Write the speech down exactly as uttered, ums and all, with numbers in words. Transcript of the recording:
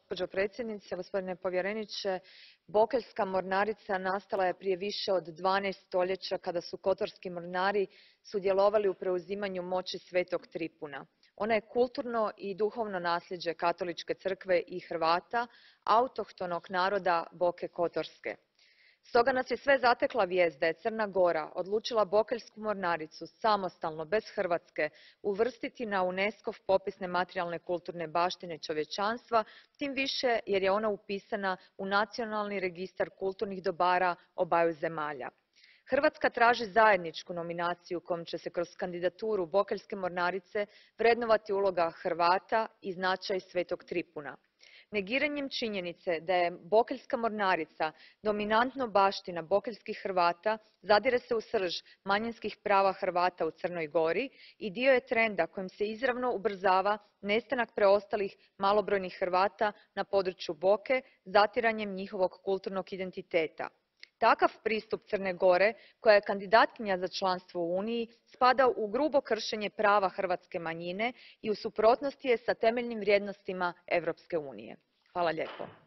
Gospođo predsjednice, gospodine povjereniče, Bokeljska mornarica nastala je prije više od dvanaest stoljeća kada su kotorski mornari sudjelovali u preuzimanju moći Svetog Tripuna. Ona je kulturno i duhovno nasljeđe Katoličke crkve i Hrvata, autohtonog naroda Boke Kotorske. Stoga nas je sve zatekla vijest da je Crna Gora odlučila Bokeljsku mornaricu samostalno, bez Hrvatske, uvrstiti na UNESCOv popis nematerijalne kulturne baštine čovječanstva, tim više jer je ona upisana u Nacionalni registar kulturnih dobara obaju zemalja. Hrvatska traži zajedničku nominaciju kojom će se kroz kandidaturu Bokeljske mornarice vrednovati uloga Hrvata i značaj Svetog Tripuna. Negiranjem činjenice da je Bokeljska mornarica dominantno baština bokeljskih Hrvata zadire se u srž manjinskih prava Hrvata u Crnoj Gori i dio je trenda kojim se izravno ubrzava nestanak preostalih malobrojnih Hrvata na području Boke zatiranjem njihovog kulturnog identiteta. Takav pristup Crne Gore, koja je kandidatkinja za članstvo u Uniji, spada u grubo kršenje prava hrvatske manjine i u suprotnosti je s temeljnim vrijednostima Europske unije. Hvala lijepo.